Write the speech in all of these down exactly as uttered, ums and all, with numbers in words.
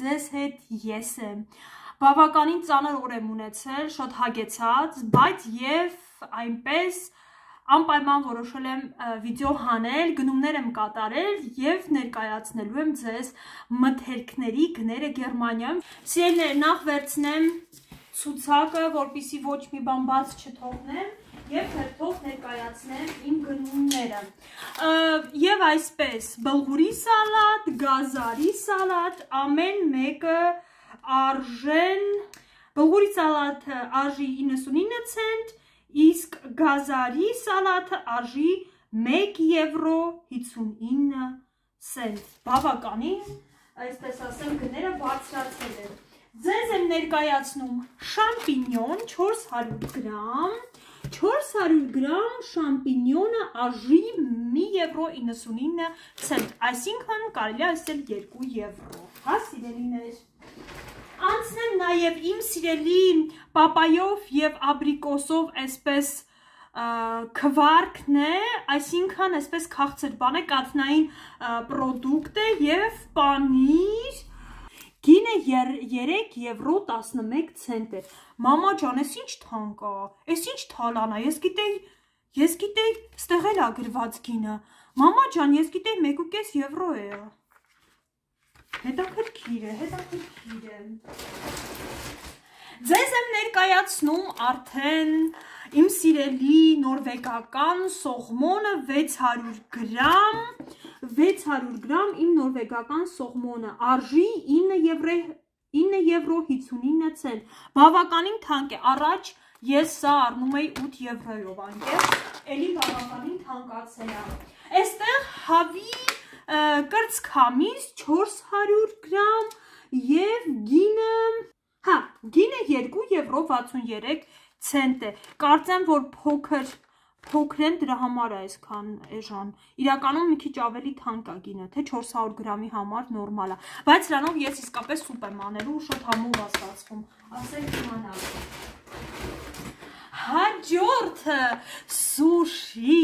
ձեզ հետ ես եմ։ Բավականին ծանր օր եմ ունեցել, շատ հագեցած, բայց եւ այնպես անպայման որոշել եմ վիդեո հանել, գնումներ եմ կատարել եւ ներկայացնելու եմ ձեզ մթերքների գները Գերմանիայում։ Սիրելիներ, նախ վերցնեմ ցուցակը, որպեսզի ոչ մի բան բաց չթողնեմ եւ հերթով ներկայացնեմ իմ գնումները։ Եվ այսպես, բլղուրի սալատ, գազարի սալատ, ամեն մեկը արժեն, բլղուրի սալատը արժի իննսունինը ցենտ, իսկ գազարի սալատը արժի մեկ եվրո հիսունինը ցենտ։ Բավականին, այսպես ասեմ, գները բարձրացել են։ Ձեզ եմ ներկայացնում շամպինյոն չորս հարյուր գրամ, չորս հարյուր գրամ շամպինյոնը արժի մի եվրո իննսունինը ցենտ, այսինքն կարելի է ասել երկու եվրո, հա սիրելիներ։ Անցնեմ նաև իմ սիրելի պապայով եւ աբրիկոսով այսպես քվարկն է, այսինքն այսպես քաղցր բան է, կաթնային պրոդուկտ է եւ պանիր, գինը երեք եվրո տասնմեկ ցենտ է։ Մամա ջան, ես ինչ թանկ է, ես ինչ թալան է, ես գիտեի, ես գիտեի, ստեղ էլ է գրված գինը։ Մամա ջան, ես գիտեի մեկ ու կես եվրո է։ Հետաքրքիր է, հետաքրքիր է։ Ձեզ եմ ներկայացնում արդեն իմ սիրելի նորվեգական սողմոնը վեց հարյուր գրամ, վեց հարյուր գրամ իմ նորվեգական սողմոնը արժի ինը եվրո հիսունինը ցենտ, բավականին թանկ է, առաջ ես սա առնում էի ութ եվրոյով, անկեղ, էլի բավականին թանկացել է։ Այստեղ հավի կրծքամիս չորս հարյուր գրամ և գինը, հա, գինը երկու եվրո վաթսուն երեք ցենտ է, կարծեմ, որ փոքր, փոքր են դրա համար է այսքան էժան, իրականում մի քիչ ավելի թանկ է գինը, թե չորս հարյուր գրամի համար նորմալ է, բայց սրանով ես իսկապես սուպ եմ անելու, շատ համով է ստացվում, ասենք իմանալ։ Հաջորդը սուշի,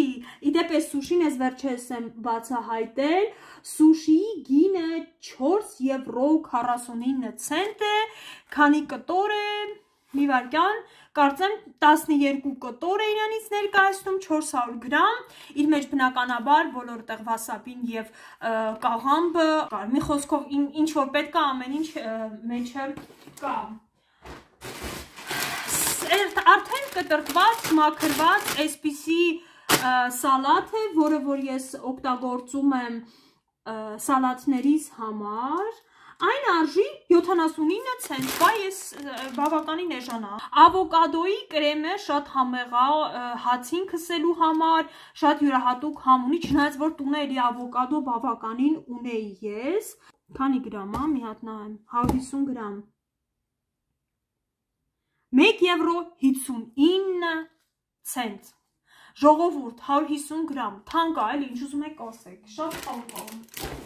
իդեպ ես սուշին ես վերջերս եմ բացահայտել, սուշիի գինը չորս եվրո քառասունինը ցենտ է, քանի կտոր է, մի վայրկյան, կարծեմ տասնյոթ կտոր է իրանից ներկայացնում, չորս հարյուր գրամ, իր մեջ բնականաբար բոլոր տեղ վասապին և կաղամբը, մի խոսքով ինչ որ պետք է ամեն ինչ մեջը կա։ Արդեն կտրտված, մաքրված այսպիսի սալատ է, որը որ ես օգտագործում եմ սալատներիս համար, այն արժի յոթանասունինը ցենտ, բա ես բավականին էժան է։ Ավոկադոյի կրեմը շատ համեղ է հացին քսելու համար, շատ յուրահատուկ համ ունի, չնայած որ տունը էլի ավոկադո բավականին ունեի ես։ Քանի գրամ է, մի հատ նայեմ, հարյուր հիսուն գրամ։ մեկ եվրո հիսունինը ցենտ։ Ժողովուրդ, հարյուր հիսուն գրամ, թանկ է, էլի ինչ ուզում եք ասեք, շատ թանկ է։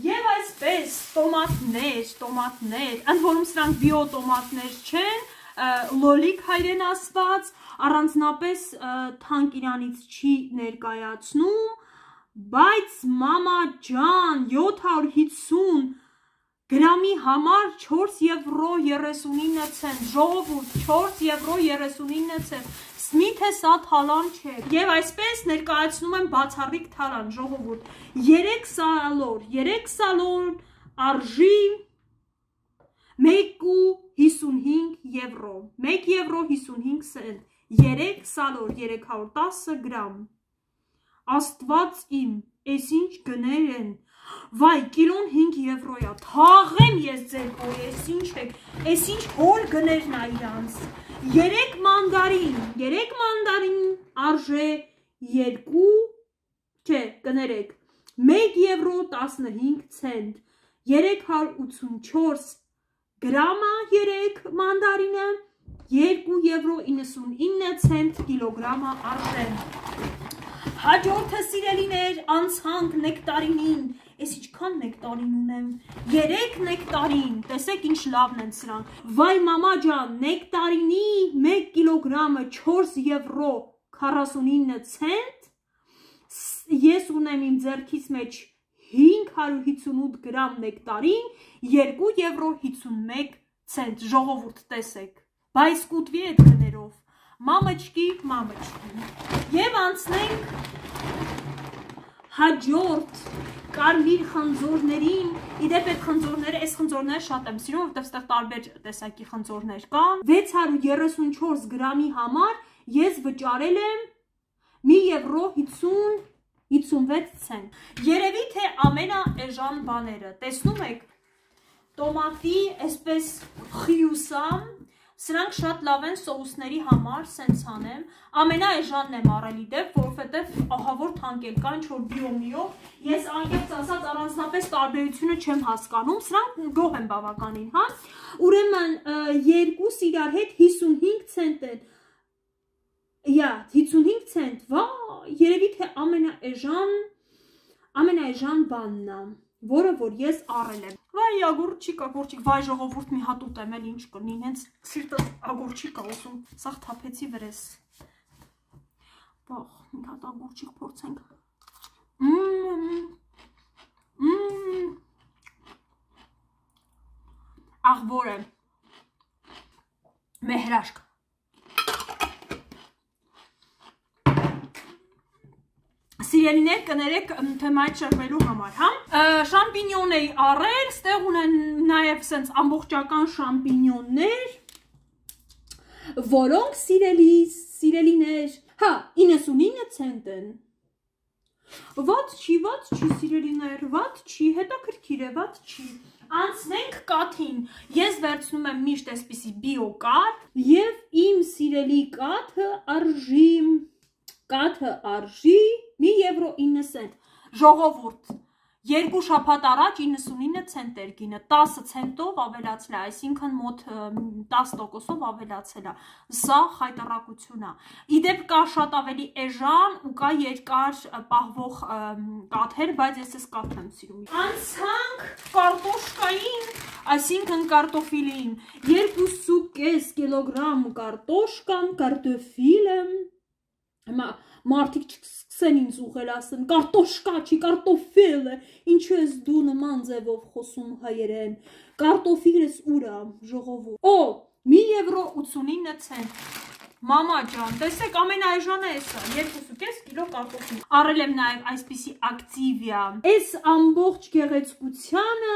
Եվ այսպես տոմատներ, տոմատներ, ընդ որում սրանք բիո տոմատներ չեն, լոլիկ հայերեն ասված, առանձնապես թանկ իրանից չի ներկայացնում, բայց մամա ջան, յոթ հարյուր հիսուն գրամի համար չորս եվրո երեսունինը ցենտ, ժողովուրդ, չորս եվրո երեսունինը ցենտ, Սմիթե սա թալան չէ, և այսպես ներկայացնում եմ բացառիկ թալան, ժողովուրդ, երեք սալոր, երեք սալոր արժի մեկ ու հիսունհինգ եվրո, մեկ եվրո հիսունհինգ ցենտ, երեք սալոր, երեք հարյուր տասը գրամ, աստված իմ, ես ինչ գներ են, վայ, կիլոն հինգ եվրո է, թաղեմ ես ձեր հոր, ես ինչ եք, ես ինչ հոր գներն է իրանց, երեք մանդարին, երեք մանդարին արժե երկու, չէ, կներեք, մեկ եվրո տասնհինգ ցենտ, երեք հարյուր ութսունչորս գրամա երեք մանդարինը, երկու եվրո իննսունինը ցենտ կիլոգրամը արժեն։ Հաջորդը սիրելիներ, անցանք նեկտարինին, ես ինչքան նեկտարին ունեմ, երեք նեկտարին, տեսեք ինչ լավն են սրանք, վայ մամա ջան, նեկտարինի մեկ կիլոգրամը չորս եվրո քառասունինը ցենտ, ես ունեմ իմ ձեռքիս մեջ հինգ հարյուր հիսունութ գրամ նեկտարին երկու եվրո հիսունմեկ ցենտ, ժողովուրդ տեսեք, բայց կուտվի այդ գներով, մամաչկի, մամաչկի, և անցնենք հաջորդ կարմիր խնձորներին, իդեպ այդ խնձորները, այս խնձորները շատ եմ սիրում, որտեղ ստեղ տարբեր տեսակի խնձորներ կան, վեց հարյուր երեսունչորս գրամի համար ես վճարել եմ մի եվրո հիսունվեց ցենտ, երևի թե ամենաէժան բաները, տեսնում եք, տոմատի այսպես խիուսամ, սրանք շատ լավ են սոուսների համար, սենց անեմ, ամենաէժանն եմ առել իդեպ, որովհետև ահավոր թանկ կա, ինչ որ բիոմիով, ես անկեղծ ասած առանձնապես տարբերությունը չեմ հասկանում, սրանք գոհ եմ բավականին, հա, ուրեմն երկուս իրար հետ հիսունհինգ ցենտ են, յա, հիսունհինգ ցենտ, վա, երևի թե ամենաէժան, ամենաէժան բանն է, որը որ ես առել եմ, վայ ագուրչիկ, ագուրչիկ, վայ ժողովուրդ մի հատ ուտեմ էլ ինչ կնին, հենց սիրտը ագուրչիկ ա ուզում, սաղ թափեցի վրես, բաղ, մի հատ ագուրչիկ փորձենք, աղբոր է, մեհրաշկ, Սիրելիներ կներեք թեմայից շրվելու համար, հա, շամպինյոն էի առել, ստեղ ունեն նաև սենց ամբողջական շամպինյոններ, որոնք սիրելիներ, հա, իննսունինը ցենտ են, վատ չի, վատ չի սիրելիներ, վատ չի, հետաքրքիր է, վատ չի, անցնենք կաթին, ես վերցնում եմ միշտ այսպիսի բիո կաթ և իմ սիրելի կաթը արժի, կաթը արժի մի եվրո ինը ցենտ, ժողովուրդ, երկու շաբաթ առաջ իննսունինը ցենտ էր գինը, տասը ցենտով ավելացել է, այսինքն մոտ տասը տոկոսով ավելացել է, սա խայտառակություն է, իդեպ կա շատ ավելի էժան ու կա երկար պահվող կաթեր, բայց ես ես կաթ եմ սիրում, անցանք կարտոշկային, այսինքն կարտոֆիլին, երկուսու կես կիլոգրամ կարտոշկան, կարտոֆիլը, մարդիկ չսկսեն ինձ ուղել ասեն, կարտոշկա չի, կարտոֆիլ է, ինչու ես դու նման ձևով խոսում հայերեն, կարտոֆիլս ուր է, ժողովուրդ, օ, մի եվրո ութսունինը ցենտ, մամա ջան, տեսեք ամենաէժանը էսա, երկուսու կես կիլո կարտոֆիլ, առել եմ նաև այսպիսի ակտիվիա, այս ամբողջ գեղեցկությանը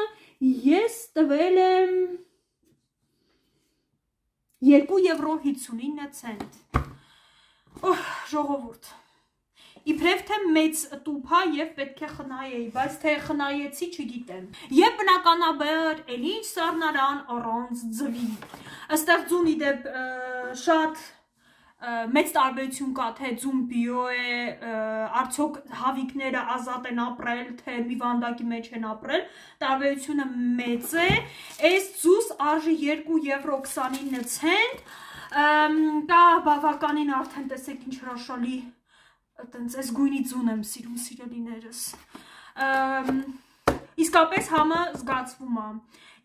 ես տվել եմ երկու եվրո հիսունինը ցենտ, օհ, ժողովուրդ, իբրև թե մեծ տուփա և պետք է խնայեի, բայց թե խնայեցի չգիտեմ, և բնականաբար էլ ինչ սառնարան առանց ձվի, ըստեղ ձուն իդեպ շատ մեծ տարբերություն կա, թե ձուն բիո է, արդյոք հավիկները ազատ են ապրել, թե մի վանդակի մեջ են ապրել, տարբերությունը մեծ է, այս ձուս արժի երկու եվրո քսանինը ցենտ, կա բավականին արդեն տեսեք ինչ հրաշալի տենց այս գույնի ձուն եմ սիրում սիրելիներս, իսկապես համը զգացվում է,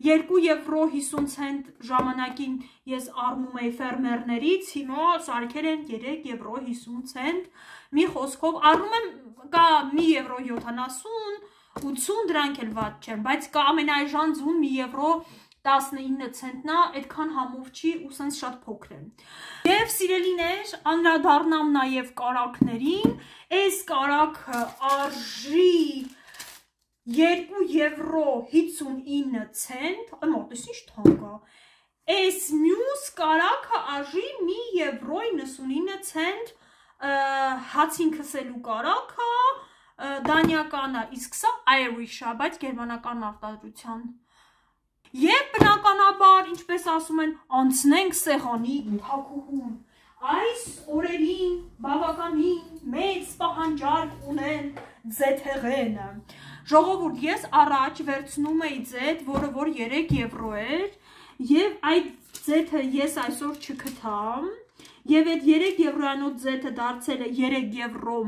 երկու եվրո հիսուն ցենտ ժամանակին ես առնում էի ֆերմերներից, հիմա սարքել են երեք եվրո հիսուն ցենտ, մի խոսքով առնում եմ, կա մի եվրո յոթանասուն, ութսուն դրանք էլ վատ չեն, բայց կա ամենաէժան ձուն մի եվրո տասնինը ցենտնա, այդքան համով չի ու սենց շատ փոքր է։ Եվ սիրելիներ, անդրադառնամ նաև կարագներին, այս կարագը արժի երկու եվրո հիսունինը ցենտ, մոտես ինչ թանկ է, այս մյուս կարագը արժի մի եվրո իննսունինը ցենտ, հացին քսելու կարագը, դանիական է, իսկ սա Irish է, բայց գերմանական արտադրության։ Եվ բնականաբար, ինչպես ասում են, անցնենք սեղանի թակուհուն, այս օրերին բավականին մեծ պահանջարկ ունեն ձեթեղենը, ժողովուրդ ես առաջ վերցնում էի ձեթ, որը որ երեք եվրո էր, և այդ ձեթը ես այսօր չգտամ, և այդ երեք եվրոյանոց ձեթը դարձել է երեք եվրո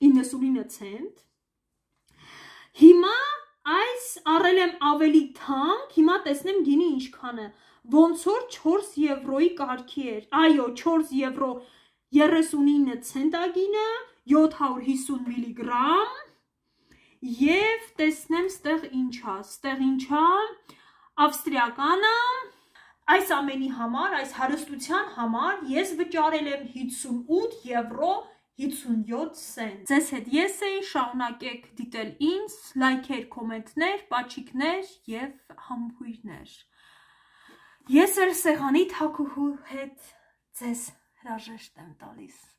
իննսունինը ցենտ, հիմա այս առել եմ ավելի թանկ, հիմա տեսնեմ գինի ինչքան է, ոնց որ չորս եվրոյի կարգի էր, այո, չորս եվրո երեսունինը ցենտ է գինը, յոթ հարյուր հիսուն միլիգրամ, եւ տեսնեմ ստեղ ինչա, ստեղ ինչա, ավստրիականը, այս ամենի համար, այս հարստության համար ես վճարել եմ հիսունութ եվրո հիսունյոթ սենտ։ Ձեզ հետ ես էի, շարունակեք դիտել ինձ, լայքեր, կոմենտներ, պաչիկներ եւ համբույրներ։ Ես էլ սեղանի թակուհու հետ ձեզ հրաժեշտ եմ տալիս։